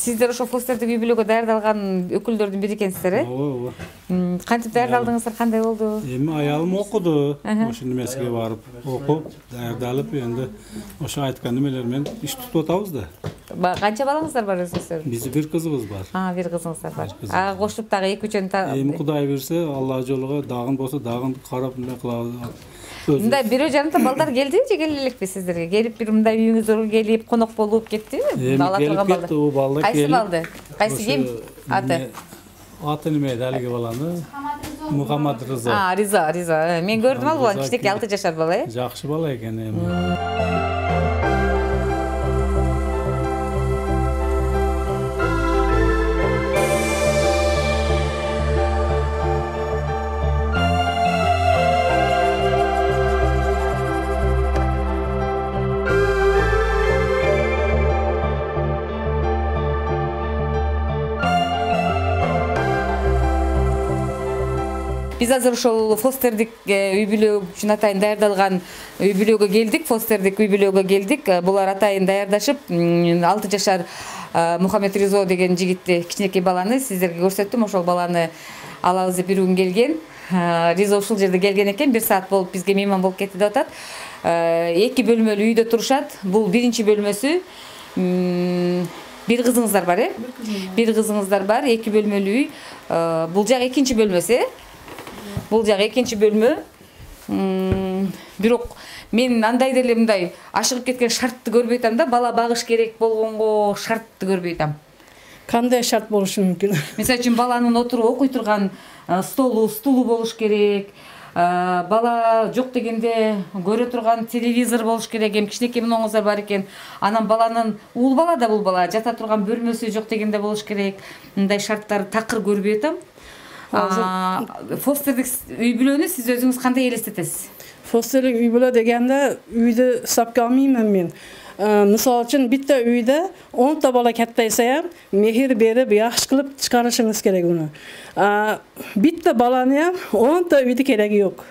Сиздер ошо фостердик үй бүлөгө даярдалган өкүлдөрдүн бири экенсиздер, э? Ооба. Кантип даярдалдыңыздар, кандай болду? Эми аялым окуду, ошо немесиге барып, окуп, даярдалып, энди ошо айткан немелер менен иш тутуп атабыз да. Канча балаңыздар бар өзүңүздөр? Биздин бир кызыбыз бар. Бир кызыңыздар бар. Кошуп дагы 2-3 Эми Кудай берсе, Алла жолуга дагын болсо дагын карап эмне кылабыз. Мындай бирөө жарымда балдар келди же келе элекпи сиздерге? Келип бир мындай үйүңүзгө келип конок болуп кеттиби? Ала турган балдар. У балдар кайсы балды? Кайсы ким? Аты? Аты неме далиги баланы? Мухаммад Рыза. Риза. Мен көрдүм ал баланы, кичинекей 6 жашар бала, э? Жакшы бала экен эми. Биз азыр ошол фостердик үй бүлө үчүн атайын даярдалган үй бүлөгө келдик, фостердик үй бүлөгө келдик. Булар атайын даярдашып, 6 жашар Мухаммед Ризо деген жигитти, кичинекей баланы сиздерге көрсөттүм. Ошол баланы алабыз деп бир күн келген. Ризо ушул жерде келген экен, 1 саат болуп бизге мейман болуп кетти деп атат. 2 бөлмөлүү үйдө турушат. Бул биринчи бөлмөсү. Бир кызыңыздар бар, э? Бир кызыңыздар бар, 2 бөлмөлүү үй. Бул жак экинчи бөлмөсү, э? Бул жак экинчи бөлмө. Бирок мен андай деле мындай ашыгып кеткен шартты көрбөй атам да, бала багыш керек болгонго шартты көрбөй атам. Кандай шарт болушу мүмкүн? Мисалы үчүн баланын отуруп окуй турган стулу болуш керек. Бала жок дегенде көрө турган телевизор болуш керек. Эми кичинекей муңуздар бар экен. Анан баланын уул бала да бул бала жата турган бөлмөсү жок дегенде болуш керек. Мындай шарттар такыр көрбөй атам. Фостердик үй бүлөнү сиз өзүңүз кандай элестетесиз? Фостердик үй бүлө дегенде үйдү сапка алмаймын мен. Мисалы үчүн битте үйдө 10 та бала каттайса, мехир берип, жакшы кылып чыгарышыңыз керек уну. Битте баланы 10 та үйдө кереги жок.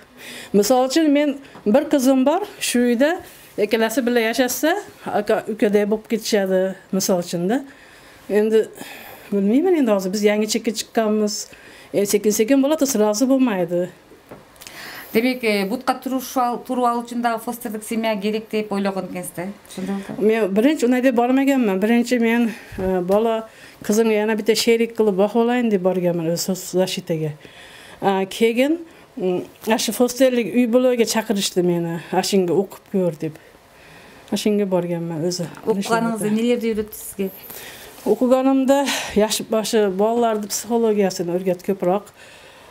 Мисалы үчүн мен бир кызым бар, шу үйдө экелеси биле жашаса, ака үкөдөй болуп кетишеди, мисалы үчүн да. Энди билбеймин, энди азыр биз жаңы чекке чыкканбыз. Секин болот, сразу болмайды. Демек, бутка туруп алуу үчүн дагы фостердик семья керек деп ойлогон экенсиз, ошондой болду? Мен биринчи ундай деп бармаганмын. Биринчи мен бала кызым яна бите шерик кылып бакып алайын деп барганмын защитаге. Кеген ашы фостердик үй бүлөгө чакырышты мени. Ашинге окуп көр деп. Ашинге барганмын өзү. Окуганыңызда нелерди үйрөттү сизге? Окуганымда жаш башы балаларды психологиясын өргөтүп көпүрөөк.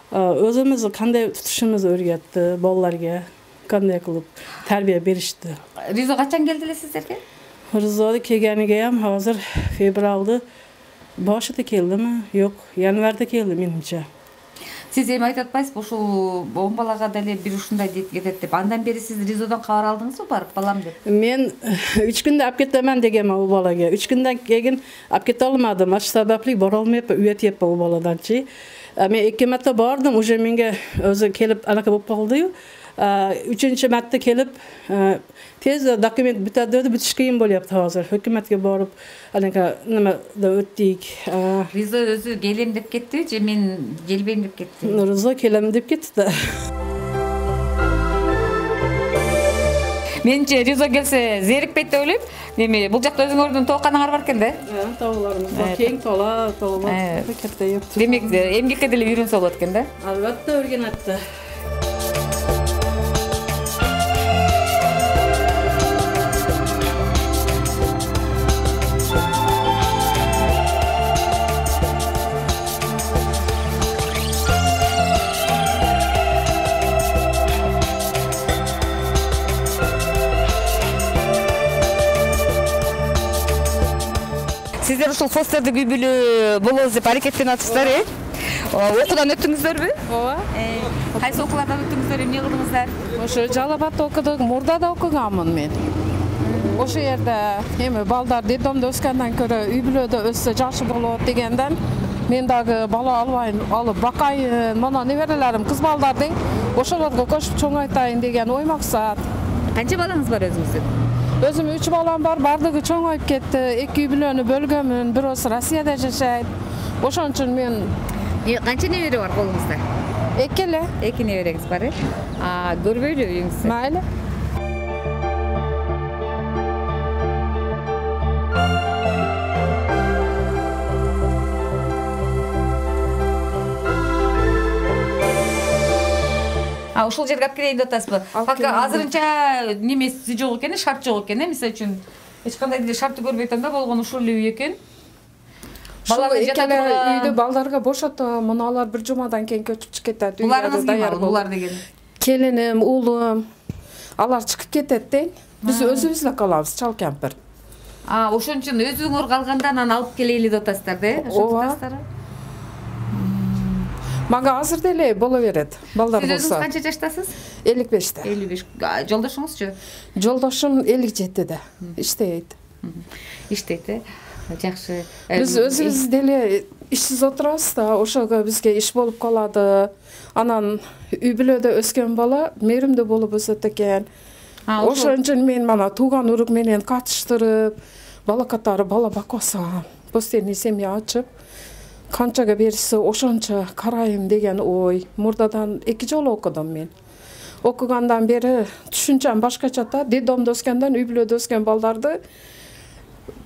Өзүмүз кандай тутушубузду өргөттү, балаларга кандай кылып тарбия беришти. Ризо качан келди эле сиздерге? Ризо келгениге ham азыр февралды башында келдими? Жок, январда келди менимче. Сиз эми айтып атпайсызбы, ушул 10 балага деле бир ушундай кетет деп. Андан бери сиз Ризодон кабар алдыңызбы барып балам деп? Мен 3 күндө алып кетемен дегем ал балага. 3 күндөн кийин алып кете алмадым. Аш сабаплы бара алмайып, үйөтүп ал баладанчы. Мен 2 марта бардым, уже менге өзү келип анака болуп калды. 3-чү марта келип тез документ бүтөдү, бүтүш кыйын болуп азыр. Өкмөткө барып анака нема да өттүк. Ризо өзү келем деп кетти же мен келбейм деп кетти? Ризо келем деп кетти да. Менче Ризо келсе зерикпейт деп ойлойм. Эми бул жакта өзүңөрдүн тооканаңар бар экен да? Тоолорубуз бар. Кең тоолор кетте жок. Демек, эмгекке деле үйрөнсө болот экен да? Албетте өргөнөттү. Сиздер ушул фостердик үй бүлө болобуз деп аракеттенип атышсыздар, э? Окуудан өттүңүздөрбү? Ооба. Кайсы окуулардан өттүңүздөр, эмне кылдыңыздар? Ошо Жалал Абадта окудук, Мурда да окуганмын мен. Ошо жерде эми балдар детдомдо өскөндөн көрө үй бүлөдө өссө жакшы болот дегенден мен дагы бала алып бакайын, мына неберелерим кыз балдардын ошолорго кошуп чоңойтайын деген ой максат. Канча балаңыз бар өзүңүздүн? Өзүм 3 балам бар, бардыгы чоңоюп кетти. 2 үй бүлөнү бөлгөмүн, бирөөсү Россияда жашайт. Ошон үчүн мен Канча небере бар колуңузда? 2 эле. 2 небереңиз бар, көрбөйлү үйүңүздү? Майли. Ушул жерге алып келейин деп атасызбы? Пока азырынча немеси жок экен, шарт жок экен, мисалы үчүн эч кандай деле шартты көрбөй атам да, болгону ушул эле үй экен. Ушул эки эле үйдү балдарга бошотом, мына алар бир жумадан кийин көчүп чыгып кетет. Буларыңыз ким? Булар деген. Келиним, уулум, алар чыгып кетет дейм. Биз өзүбүз эле калабыз, чал кемпир. Ошон үчүн өзүңөр калганда анан алып келели деп атасыздар да? Ооба. Мага азыр деле боло берет. Балдар болсо. Сиз өзүңүз канча жаштасыз? 55-те. 55. Жолдошуңузчу? Жолдошум 57-те. Иштейт. Иштейт, жакшы. Биз өзүбүз деле ишсиз отурабыз да, ошого бизге иш болуп калады. Анан үй бүлөдө өскөн бала мээримдүү болуп өсөт экен. Ошон үчүн мен мана тууган урук менен катыштырып, бала катары бала бакпасам, постоянный семья ачып, канчага берсе ошончо карайм деген ой. Мурдадан 2 жолу окудум мен. Окугандан бери түшүнчөм башкача да. Детдомдо өскөндөн үй бүлөдө өскөн балдарды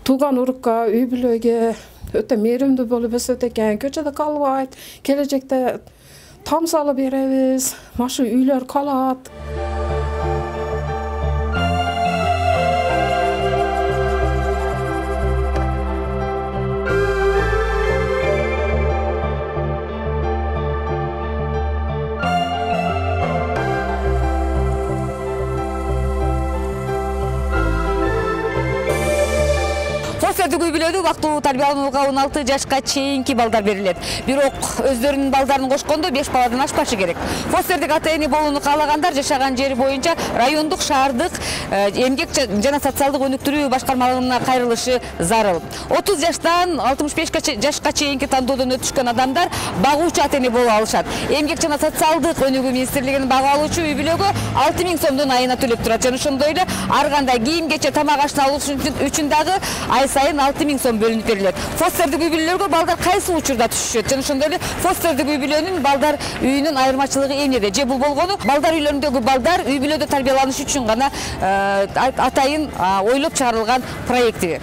тууган урукка, үй бүлөгө өтө мээримдүү болуп өсөт экен. Көчөдө калбайт. Келечекте там салып беребиз. Машы үйлөр калат. Фостердик үй бүлөдө убактылуу тарбияланууга 16 жашка чейинки балдар берилет. Бирок өздөрүнүн балдарын кошкондо 5 баладан ашпашы керек. Фостердик ата-эне болууну каалагандар жашаган жери боюнча райондук, шаардык эмгек жана социалдык өнүктүрүү башкармалыгына кайрылышы зарыл. 30 жаштан 65 жашка чейинки тандоодон өтүшкөн адамдар багуучу ата-эне боло алышат. Эмгек жана социалдык өнүгүү министрлигинин бага алуучу үй бүлөгө 6000 сомдон айына төлөп турат. Жана ошондой эле ар кандай кийим кече, тамак ашына алуу үчүн дагы ай сайын 6000 сом бөлүнүп берилет. Фостердик үй бүлөлөргө балдар кайсы учурда түшүшөт? Жана ошондой эле фостердик үй бүлөнүн балдар үйүнүн айырмачылыгы эмнеде? Же бул болгону балдар үйлөрүндөгү балдар үй бүлөдө тарбияланыш үчүн гана атайын ойлоп чыгарылган проекти.